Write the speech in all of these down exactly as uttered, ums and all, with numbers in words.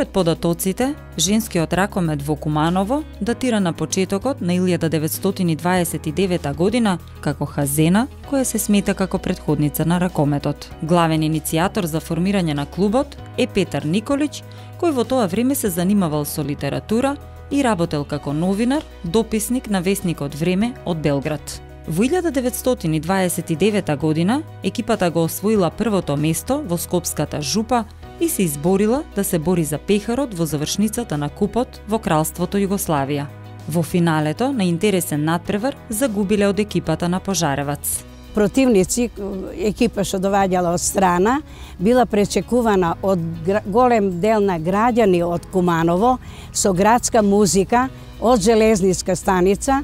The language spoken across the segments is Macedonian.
Според податоците, женскиот ракомет во Куманово датира на почетокот на илјада деветстотини дваесет и девета година како Хазена, која се смета како претходница на ракометот. Главен иницијатор за формирање на клубот е Петар Николич, кој во тоа време се занимавал со литература и работел како новинар, дописник на весникот Време од Белград. Во илјада деветстотини дваесет и девета година екипата го освоила првото место во Скопската жупа и се изборила да се бори за пехарот во завршницата на купот во Кралството Југославија. Во финалето на интересен натпревар загубиле од екипата на Пожаревац. Противници, екипа што доаѓала од страна, била пречекувана од голем дел на граѓани од Куманово со градска музика од железниска станица.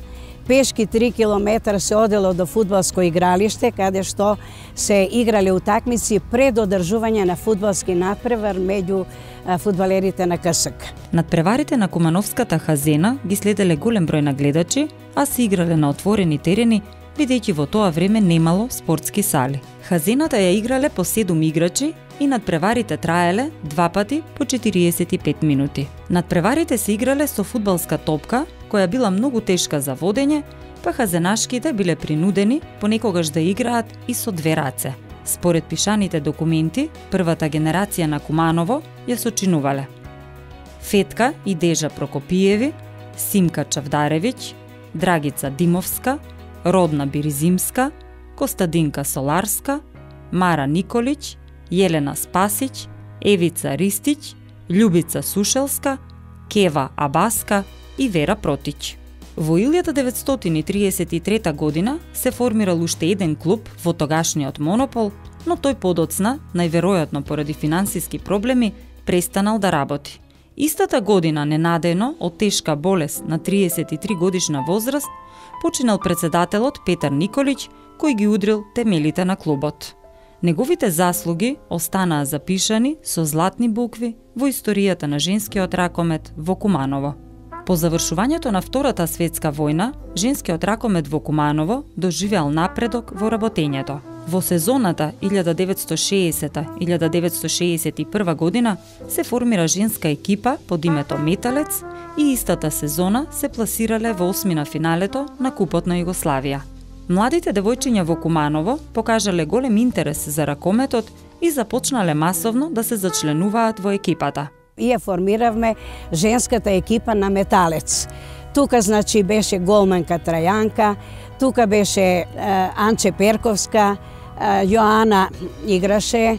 Пешки три километра се одело до фудбалско игралиште, каде што се играле утакмици пред одржување на фудбалски натпревар меѓу фудбалерите на КСК. Натпреварите на Кумановската Хазена ги следеле голем број на гледачи, а се играле на отворени терени, бидејќи во тоа време немало спортски сали. Хазената ја играле по седум играчи и надпреварите траеле два пати по четириесет и пет минути. Надпреварите се играле со фудбалска топка, која била многу тешка за водење, па хазенашките биле принудени понекогаш да играат и со две раце. Според пишаните документи, првата генерација на Куманово ја сочинувале Фетка и Дежа Прокопиеви, Симка Чавдаревиќ, Драгица Димовска, Родна Биризимска, Костадинка Соларска, Мара Николич, Јелена Спасиć, Евица Ристиć, Љубица Сушелска, Кева Абаска и Вера Протиć. Во илјада деветстотини триесет и трета година се формирал уште еден клуб во тогашниот Монопол, но тој подоцна, најверојатно поради финансиски проблеми, престанал да работи. Истата година, ненадејно, од тешка болест на триесет и три годишна возраст, починал председателот Петар Николич, кој ги удрил темелите на клубот. Неговите заслуги останаа запишани со златни букви во историјата на женскиот ракомет во Куманово. По завршувањето на Втората светска војна, женскиот ракомет во Куманово доживеал напредок во работењето. Во сезоната илјада деветстотини и шеесета - илјада деветстотини шеесет и прва година се формира женска екипа под името Металец и истата сезона се пласирале во осмина финалето на Купот на Југославија. Младите девојчиња во Куманово покажале голем интерес за ракометот и започнале масовно да се зачленуваат во екипата. И ја формиравме женската екипа на Металец. Тука значи беше голманка Трајанка, тука беше е, Анче Перковска, е, Јоана играше, е,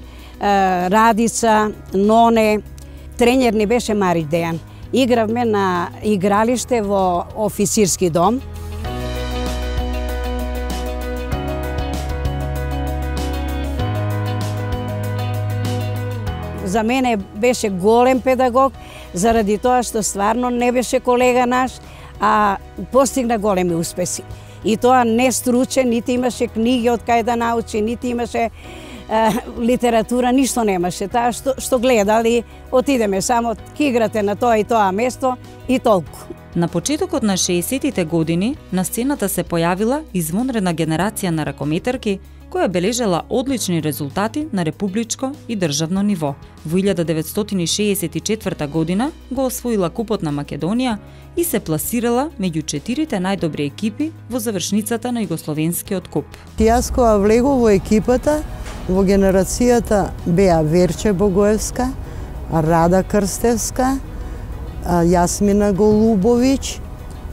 Радица, Ноне, тренер ни беше Мари Дејан. Игравме на игралиште во официрски дом. За мене беше голем педагог, заради тоа што стварно не беше колега наш, а постигна големи успеси. И тоа не стручен, нити имаше книги од кај да научи, нити имаше е, литература, ништо немаше. Таа што, што гледали, отидеме само, ки играте на тоа и тоа место и толку. На почетокот на шеесеттите години на сцената се појавила извонредна генерација на ракометарки, која бележела одлични резултати на републичко и државно ниво. Во илјада деветстотини и шеесет и четврта година го освоила Купот на Македонија и се пласирала меѓу четирите најдобри екипи во завршницата на Југословенскиот куп. Јас кога влегов во екипата, во генерацијата беа Верче Богоевска, Рада Крстевска, Јасмина Голубовиќ,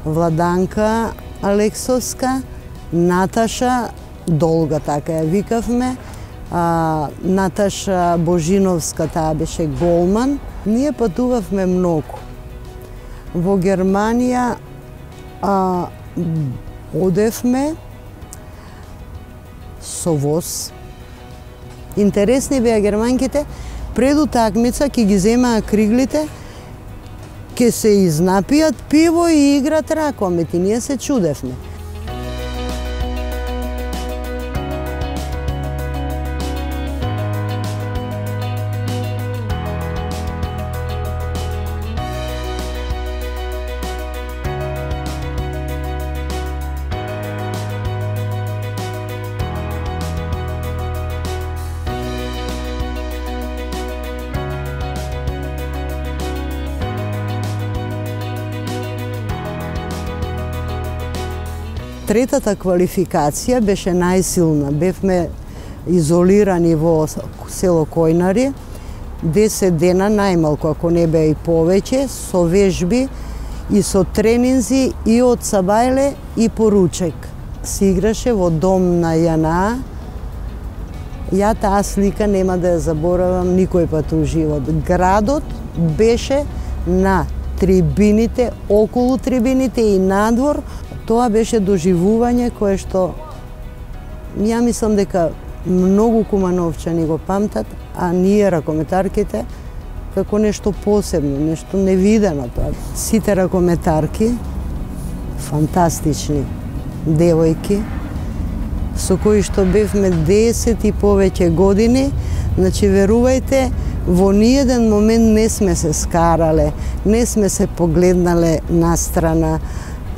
Владанка Алексовска, Наташа Долга, така ја викавме, а, Наташа Божиновска, таа беше голман. Ние патувавме многу. Во Германија а, одевме со воз. Интересни беа германките, пред утакмица ќе ги земаа криглите, ќе се изнапијат пиво и играт ракомет и ние се чудевме. третата квалификација беше најсилна. Бевме изолирани во село Којнари, десет дена најмалку, ако не беа и повеќе, со вежби и со тренинзи и од Сабајле и поручек. Се играше во дом на Јана. Ја таа слика нема да ја заборавам никој пат у живот. Градот беше на трибините, околу трибините и надвор. Тоа беше доживување кое што ја мислам дека многу кумановчани го памтат, а ние ракометарките како нешто посебно, нешто невидено тоа. Сите ракометарки, фантастични девојки, со кои што бевме десет и повеќе години, значи верувајте, во ниеден момент не сме се скарале, не сме се погледнале настрана,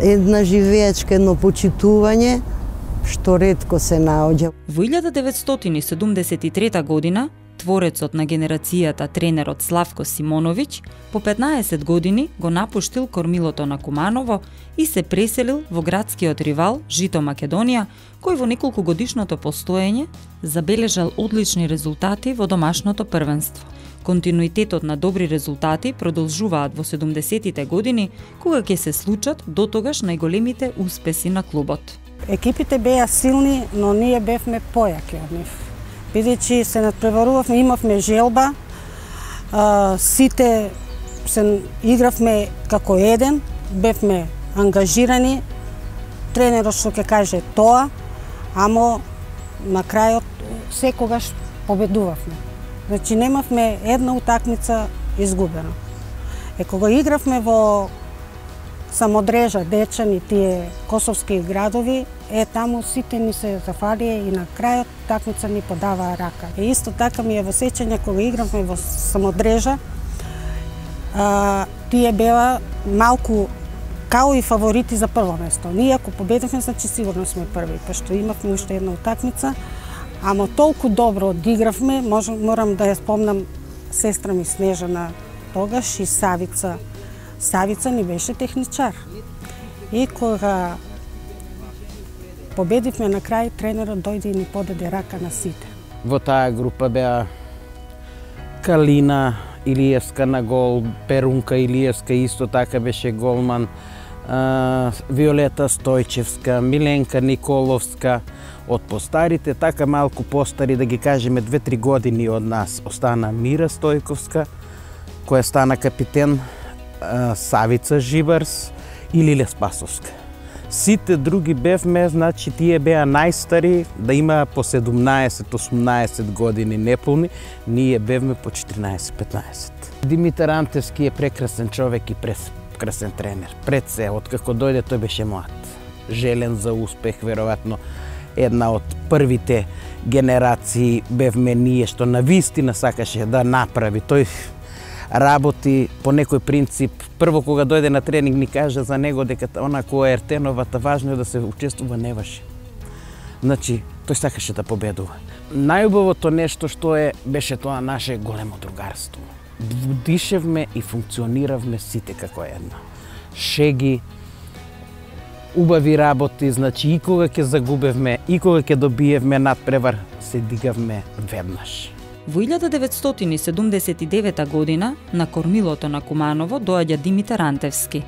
една живеечка, едно почитување, што ретко се наоѓа. Во илјада деветстотини и седумдесет и трета година, творецот на генерацијата тренерот Славко Симоновиќ по петнаесет години го напуштил кормилото на Куманово и се преселил во градскиот ривал Жито Македонија, кој во неколку годишното постоење забележал одлични резултати во домашното првенство. Континуитетот на добри резултати продолжуваат во седумдесетите години, кога ќе се случат дотогаш најголемите успеси на клубот. Екипите беа силни, но ние бевме појаки од нив. Бидејќи се надпреварувавме, имавме желба, а, сите се игравме како еден, бевме ангажирани, тренерот што ќе каже тоа, амо на крајот секогаш победувавме. Значи немавме една утакмица изгубена. Е кога игравме во Самодрежа, Дечани, тие косовски градови, е таму сите ни се зафалија и на крајот такмица ни подаваа рака. И исто така ми е во сеќање кога игравме во Самодрежа, а, тие беа малку као и фаворити за прво место. Ние ако победивме, значи сигурно сме први, пошто имавме уште една утакмица, ама толку добро одигравме, можам, морам да ја спомнам сестра ми Снежана тогаш и Савица. Савица ни беше техничар. И кога победивме на крај, тренерот дојде и ни подаде рака на сите. Во таа група беа Калина Илиевска на гол, Перунка Илиевска исто така беше голман, Виолета Стојчевска, Миленка Николовска. Од постарите, така малку постари, да ги кажеме две-три години од нас, остана Мира Стојковска, која стана капитен, Савица Живарс и Лиле Спасовска. Сите други бевме, значи тие беа најстари, да има по седумнаесет-осумнаесет години неполни, ние бевме по четиринаесет-петнаесет. Димитар Антевски е прекрасен човек и прекрасен тренер. Пред се, откако дојде, тој беше млад. Желен за успех, веројатно една од првите генерации бевме ние, што навистина сакаше да направи. Тој работи по некој принцип. Прво кога дојде на тренинг ни кажа за него дека она која е Ертеновата, важно е да се учествува неваше. Значи, тој сакаше да победува. Најубавото нешто што е беше тоа наше големо другарство. Дишевме и функциониравме сите како една. Шеги, убави работи, значи и кога ќе загубевме, и кога ќе добиевме надпревар, се дигавме веднаш. Во илјада деветстотини и седумдесет и девета година на кормилото на Куманово доаѓа Димитар Антевски.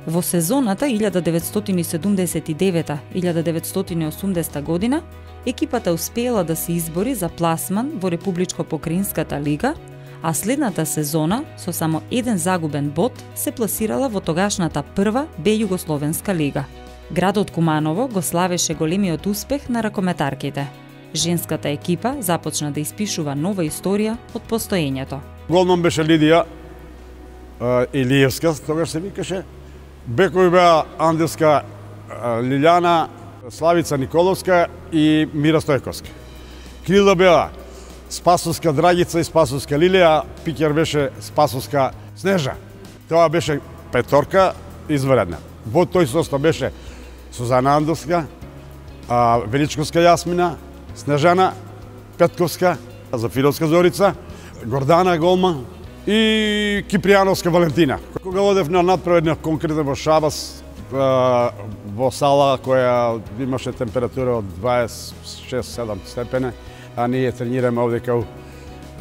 Во сезоната илјада деветстотини и седумдесет и девета - илјада деветстотини и осумдесета година екипата успеела да се избори за пласман во Републичко-Покраинската лига, а следната сезона со само еден загубен бод се пласирала во тогашната прва Б Југословенска лига. Градот Куманово го славеше големиот успех на ракометарките. Женската екипа започна да испишува нова историја од постоењето. Голман беше Лидија Илиевска, тогаш се викаше. Бекови беа Андевска Лилјана, Славица Николовска и Мира Стојковска. Крила беа Спасовска Драгица и Спасовска Лилија, пикер беше Спасовска Снежа. Тоа беше петорка извредна. Во тој состав беше Сузана Андовска, Величковска Јасмина, Снежана Петковска, Зафировска Зорица, Гордана Голман и Кипријановска Валентина. Кога одев на надпревар конкретно во Шабас, во сала која имаше температура од дваесет и шест седам степени, а ние тренираме овде као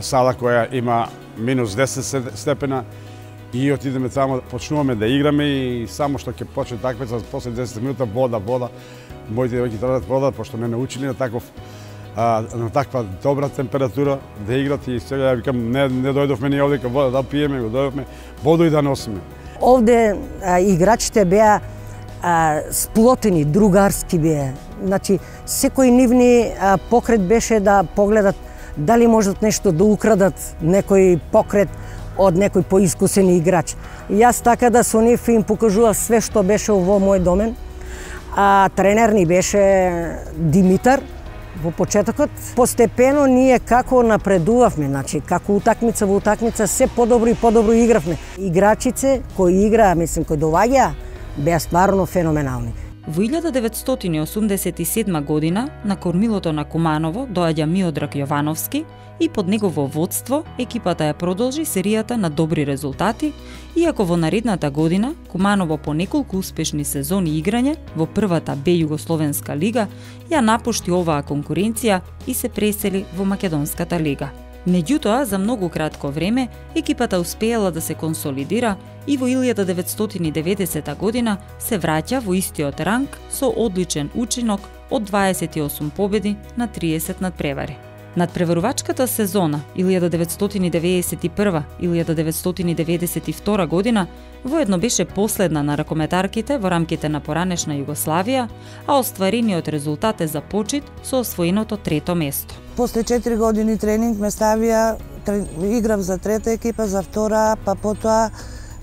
сала која има минус десет степена и отидеме таму, почнуваме да играме и само што ќе почне такмица, после десет минута вода, вода, моите девојки требаат вода, пошто не научили на таков а, на таква добра температура да играт и сега ја викам не не дојдовме ни овде вода да пиеме, го дојдовме воду и да носиме. Овде а, играчите беа а, сплотени, другарски беа. Значи, секој нивни а, покрет беше да погледат дали можат нешто да украдат, некој покрет од некој поискусен играч. И јас така да со нив им покажував све што беше во мој домен. А тренер ни беше Димитар во почетокот. Постепено ние како напредувавме, значи како утакмица во утакмица се подобро и подобро игравме. Играчице кои играа, мислим, кои доаѓаа, беа стварно феноменални. Во илјада деветстотини и осумдесет и седма година на кормилото на Куманово доаѓа Миодраг Јовановски и под негово водство екипата ја продолжи серијата на добри резултати, иако во наредната година Куманово по неколку успешни сезони играње во првата Б Југословенска лига ја напушти оваа конкуренција и се пресели во Македонската лига. Меѓутоа, за многу кратко време, екипата успеала да се консолидира и во илјада деветстотини и деветдесета година се враќа во истиот ранг со одличен учинок од дваесет и осум победи на триесет надпревари. Надпреварувачката сезона илјада деветстотини деветдесет и прва - илјада деветстотини деветдесет и втора година воедно беше последна на ракометарките во рамките на поранешна Југославија, а остварениот резултат е започит со освоеното трето место. После четири години тренинг ме ставија, играв за трета екипа, за втора, па потоа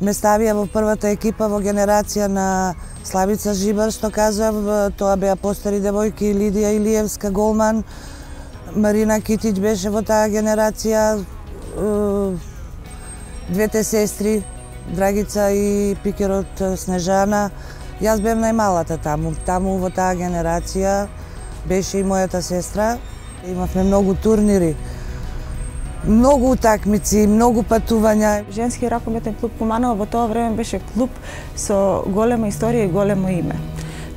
ме ставија во првата екипа во генерација на Славица Жибар, што кажав, тоа беа постари девојки, Лидија Илиевска, голман, Марина Китич беше во таа генерација, двете сестри, Драгица и пикерот Снежана. Јас бев најмалата таму, таму во таа генерација беше и мојата сестра. Имавме многу турнири, многу утакмици, многу патувања. Женски ракометен клуб Куманово во тоа време беше клуб со голема историја и големо име.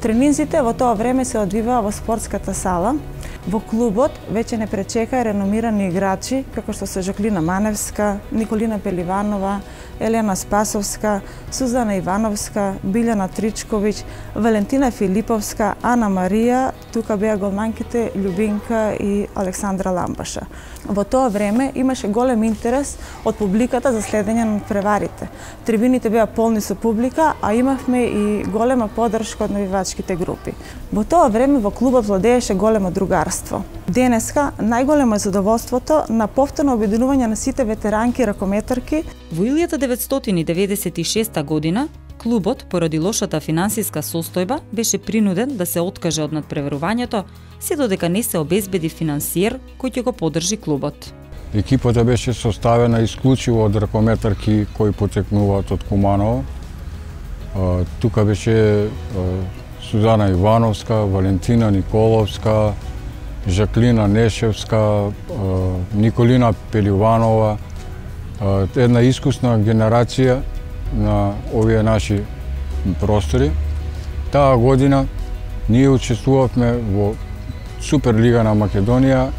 Тренинзите во тоа време се одвиваа во спортската сала. Во клубот веќе не пречекаа реномирани играчи, како што се Жаклина Маневска, Николина Пеливанова, Елена Спасовска, Сузана Ивановска, Билјана Тричковиќ, Валентина Филиповска, Ана Марија, тука беа голманките Љубинка и Александра Ламбаша. Во тоа време имаше голем интерес од публиката за следење на преварите. Трибините беа полни со публика, а имавме и голема поддршка од навивачките групи. Во тоа време во клубот владееше големо другарство. Денеска најголемо е задоволството на повторно обединување на сите ветеранки ракометарки. Во илјада деветстотини деветдесет и шеста година клубот поради лошата финансиска состојба беше принуден да се откаже од надпреварувањето, се додека не се обезбеди финансиер кој ќе го поддржи клубот. Екипата беше составена исклучиво од ракометарки кои потекнуваат од Куманово. Тука беше Сузана Ивановска, Валентина Николовска, Жаклина Нешевска, Николина Пеливанова, една искусна генерација на овие наши простори. Таа година ние учествувавме во Суперлига на Македонија,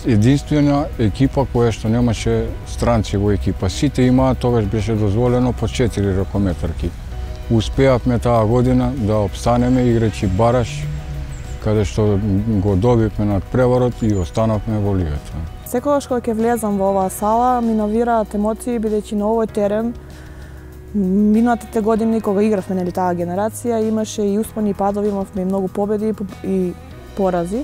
единствена екипа која што немаше странци во екипа. Сите имаат, тогаш беше дозволено по четири ракометарки. Успеавме таа година да обстанеме играјќи бараш, каде што го добивме над преварот и останавме во лигата. Секогаш кога ќе влезам во оваа сала, ми новираат емоции, бидејќи на овој терен минатите години кога игравме нели таа генерација, имаше и успони и падови, имавме и многу победи и порази,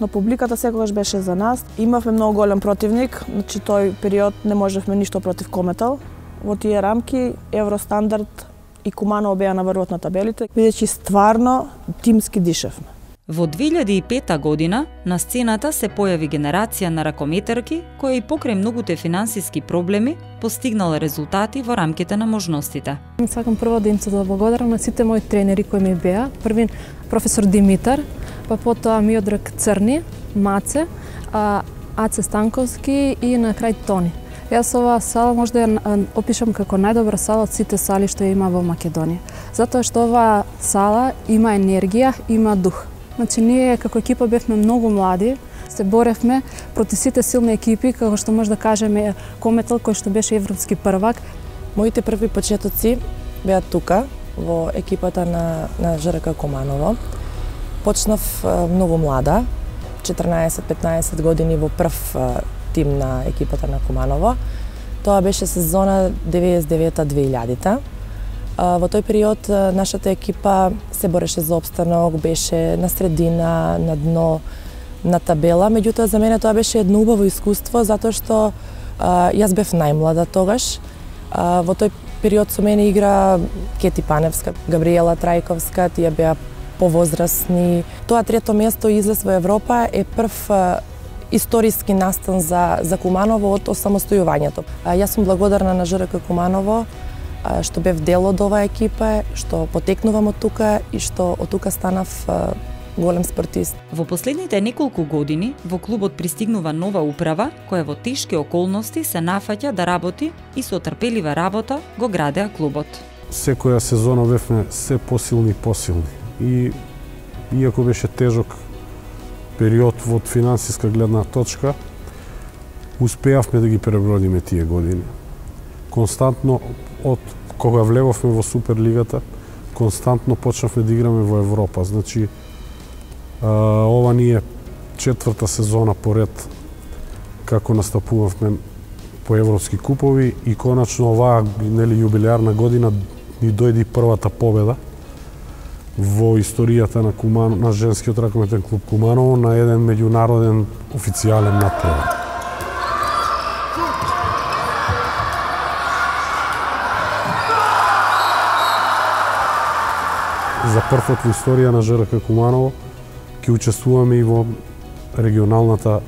но публиката секогаш беше за нас. Имавме многу голем противник, значи тој период не можевме ништо против Кометал. Во тие рамки Евростандард и Куманово беа на врвот на табелите, бидејќи стварно тимски дишевме. Во две илјади и пета година на сцената се појави генерација на ракометарки која и покрај многуте финансиски проблеми постигнала резултати во рамките на можностите. Сакам прво да им се благодарам на сите мои тренери кои ми беа. Првин професор Димитар, па потоа Миодраг Црни, Маце, Аце Станковски и на крај Тони. Јас оваа сала може да ја опишам како најдобра сала од сите сали што ја има во Македонија. Затоа што оваа сала има енергија, има дух. Значи, ние како екипа бевме многу млади, се боревме проти сите силни екипи, како што може да кажеме Кометел, кој што беше европски првак. Моите први почетоци беа тука, во екипата на, на ЖРК Куманово. Почнав многу млада, четрнаесет-петнаесет години во прв тим на екипата на Куманово. Тоа беше сезона деветдесет и девета - две илјадите. Во тој период нашата екипа се бореше за опстанок, беше на средина, на дно, на табела. Меѓутоа, за мене тоа беше едно убаво искуство, затоа што а, јас бев најмлада тогаш. А, во тој период со мене игра Кети Паневска, Габриела Трајковска, тие беа повозрастни. Тоа трето место излез во Европа е прв а, историски настан за, за Куманово од осамостојувањето. А, јас сум благодарна на ЖРК Куманово, а, што бев дел од оваа екипа, што потекнувам од тука и што од тука станав а, голем спортист. Во последните неколку години во клубот пристигнува нова управа која во тешки околности се нафаќа да работи и со трпелива работа го градеа клубот. Секоја сезона бевме се посилни и посилни. И иако беше тежок период од финансиска гледна точка, успеавме да ги пребродиме тие години. Константно од кога влеговме во Суперлигата, константно почнавме да играме во Европа. Значи, ова ни е четврта сезона поред како настапувавме по европски купови и конечно оваа нели јубилеарна година ни дојде првата победа во историјата на Куманово, на женскиот ракометен клуб Куманово на еден меѓународен официјален натпревар. За прв пат во историја на ЖРК Куманово ќе учествуваме и во регионалната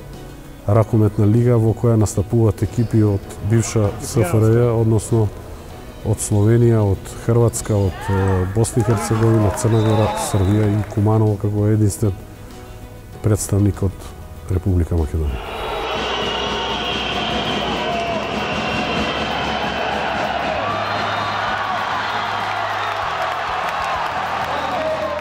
ракометна лига во која настапуваат екипи од бивша СФРЈ, односно од Словенија, од Хрватска, од Босна и Херцеговина, Црна Гора, Србија и Куманово како единствен представник од Република Македонија.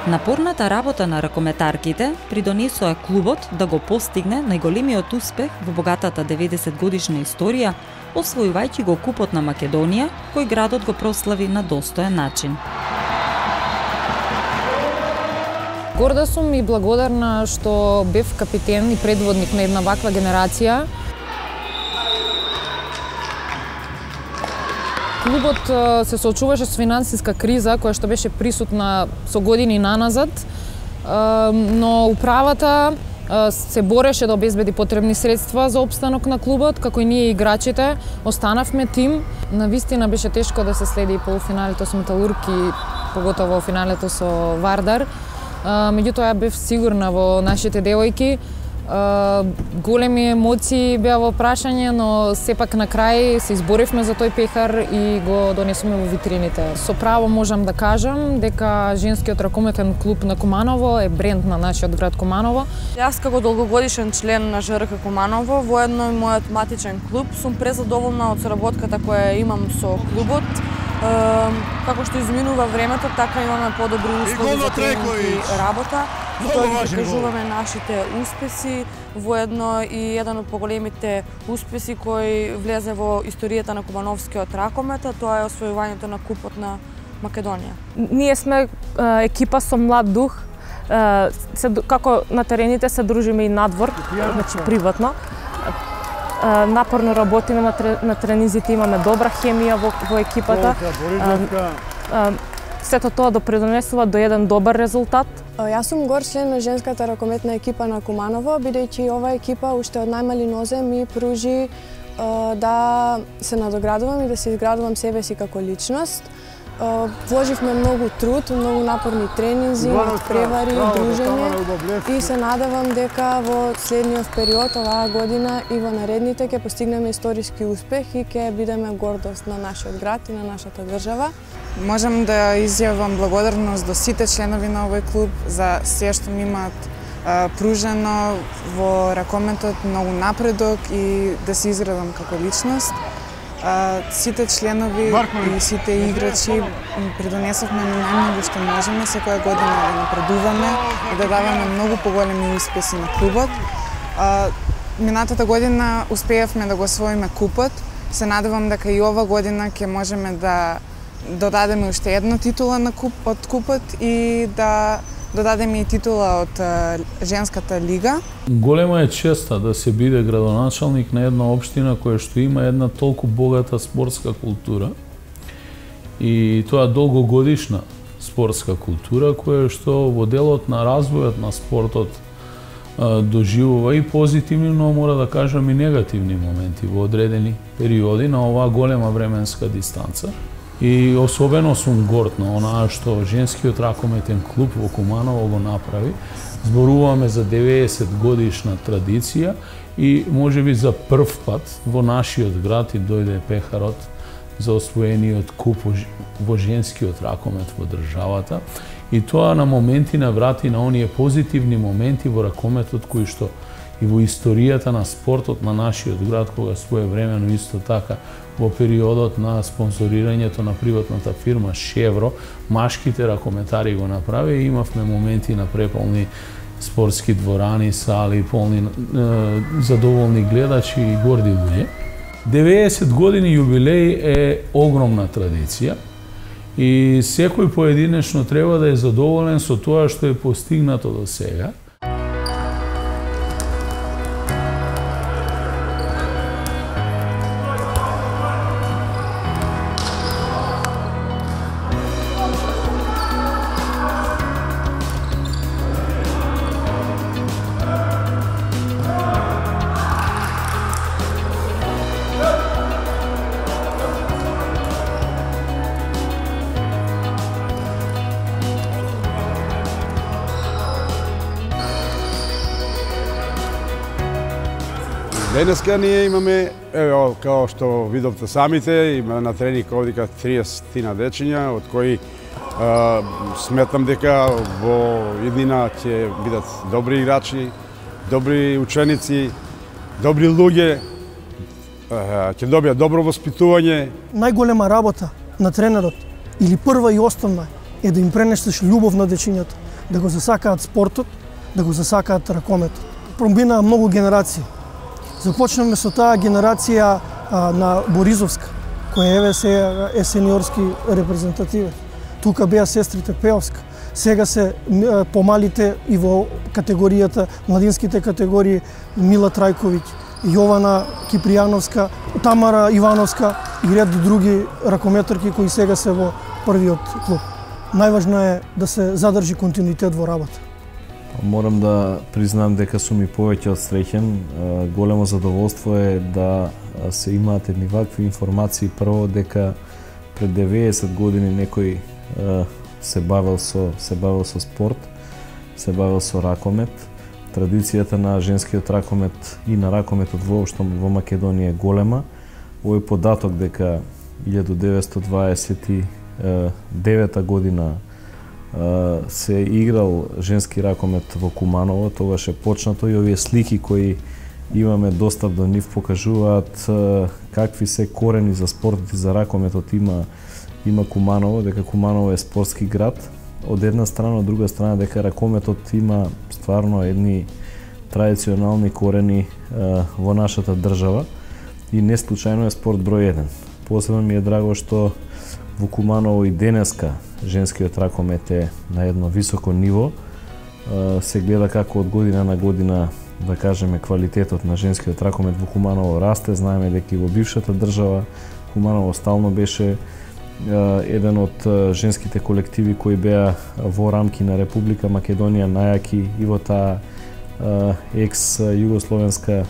Напорната работа на ракометарките придонесоа клубот да го постигне најголемиот успех во богатата деветдесет годишна историја, освојувајќи го Купот на Македонија, кој градот го прослави на достоен начин. Горда сум и благодарна што бев капитен и предводник на една ваква генерација. Клубот се соочуваше со финансиска криза која што беше присутна со години наназад, но управата се бореше да обезбеди потребни средства за опстанок на клубот, како и ние играчите останавме тим. Навистина беше тешко да се следи полуфиналето со Металург и поготово финалето со Вардар. Меѓутоа ја бев сигурна во нашите девојки. Големи емоции беа во прашање, но сепак на крај се изборивме за тој пехар и го донесоме во витрините. Со право можам да кажам дека женскиот ракометен клуб на Куманово е бренд на нашиот град Куманово. Јас како долгогодишен член на ЖРК Куманово, воедно и мојот матичен клуб, сум презадоволна од соработката која имам со клубот. Како што изминува времето, така имаме подобри услови за тренинг и работа. Тоа ги покажуваме нашите успеси, воедно и еден од поголемите успеси кој влезе во историјата на кумановскиот ракомет, тоа е освојувањето на Купот на Македонија. Ние сме екипа со млад дух, се, како на терените се дружиме и надвор, значи приватно. Напорно работиме на, на тренизите, имаме добра хемија во, во екипата. Сето тоа допринесува до еден добар резултат. Јас сум гор член на женската ракометна екипа на Куманово, бидејќи ова екипа уште од најмали нозе ми пружи да се надоградувам и да се изградувам себе си како личност. Вложивме многу труд, многу напорни тренинзи, надпревари, дружење и се надевам дека во следниот период оваа година и во наредните ќе постигнеме историски успех и ќе бидеме гордост на нашиот град и на нашата држава. Можам да изјавам благодарност до сите членови на овој клуб за се што ми имаат пружено во ракометот, многу напредок и да се изградам како личност. Сите членови и сите играчи придонесовме најмногу што можеме секоја година да напредуваме и да даваме многу поголеми успеси на клубот. Минатата година успеавме да го освоиме купот. Се надевам дека и ова година ќе можеме да додадеме уште една титула на куп, од купот и да додадеме и титула од женската лига. Голема е честа да се биде градоначалник на една општина која што има една толку богата спортска култура и тоа долгогодишна спортска култура која што во делот на развојот на спортот доживува и позитивни, но мора да кажам и негативни моменти во одредени периоди на оваа голема временска дистанца. И особено сум горд на онаа што женскиот ракометен клуб во Куманово го направи. Зборуваме за деветдесет годишна традиција и можеби за прв пат во нашиот град и дојде пехарот за освоениот куп во женскиот ракомет во државата. И тоа на моменти наврати на оние позитивни моменти во ракометот кои што и во историјата на спортот на нашиот град, кога своевремено исто така во периодот на спонзорирањето на приватната фирма Шевро, машките ракометари го направи и имавме моменти на преполни спортски дворани, сали, полни е, задоволни гледачи и горди луѓе. деветдесет години јубилеј е огромна традиција и секој поединечно треба да е задоволен со тоа што е постигнато до сега. Денеска ние имаме, ево, као што видовте самите, има на тренинг овдека триесет на дечиња, од кои е, сметам дека во иднина ќе бидат добри играчи, добри ученици, добри луѓе, ќе добијат добро воспитување. Најголема работа на тренерот, или прва и основна, е да им пренесеш љубов на дечињата, да го засакаат спортот, да го засакаат ракометот. Промина многу генерации. Започнаме со таа генерација а, на Боризовска, која еве се е сениорски репрезентативен. Тука беа сестрите Пеовска. Сега се а, помалите и во категоријата, младинските категории Мила Трајковиќ, Јована Кипријановска, Тамара Ивановска и ред други ракометарки кои сега се во првиот клуб. Најважно е да се задржи континуитет во работа. Морам да признам дека сум и повеќе од среќен. Големо задоволство е да се имаат едни вакви информации. Прво дека пред деветдесет години некој се бавел со се бавел со спорт, се бавел со ракомет. Традицијата на женскиот ракомет и на ракометот воопшто во Македонија е голема. Овој податок дека илјадум деветстотини дваесет и девета година се играл женски ракомет во Куманово, тогаш е почнато и овие слики кои имаме достап до нив покажуваат какви се корени за спортот и за ракометот има има Куманово, дека Куманово е спортски град. Од една страна, од друга страна дека ракометот има стварно едни традиционални корени во нашата држава и не случајно е спорт број еден. Посебно ми е драго што во Куманово и денеска женскиот ракомет е на едно високо ниво. Се гледа како од година на година, да кажеме, квалитетот на женскиот ракомет во Куманово расте. Знаеме дека и во бившата држава Куманово стално беше еден од женските колективи кои беа во рамки на Република Македонија најаки и во таа екс-југословенска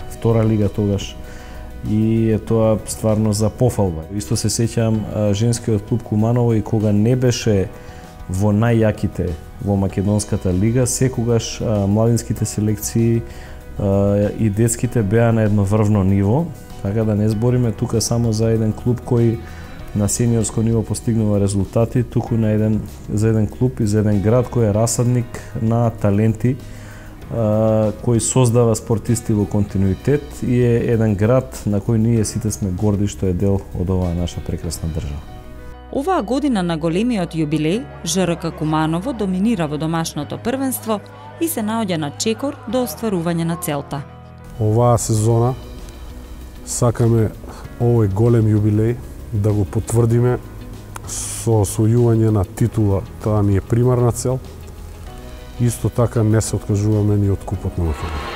втора лига тогаш. И е тоа стварно за пофалба. Исто се сеќавам женскиот клуб Куманово и кога не беше во најјаките во македонската лига, секогаш младинските селекции и детските беа на едно врвно ниво, така да не збориме тука само за еден клуб кој на сениорско ниво постигнува резултати, туку на еден за еден клуб и за еден град кој е расадник на таленти кој создава спортисти во континуитет и е еден град на кој ние сите сме горди што е дел од оваа наша прекрасна држава. Оваа година на големиот јубилеј, ЖРК Куманово доминира во домашното првенство и се наоѓа на чекор до остварување на целта. Оваа сезона сакаме овој голем јубилеј да го потврдиме со освојување на титула, таа ни е примарна цел. Исто така не се откажуваме ни од купот на Македонија.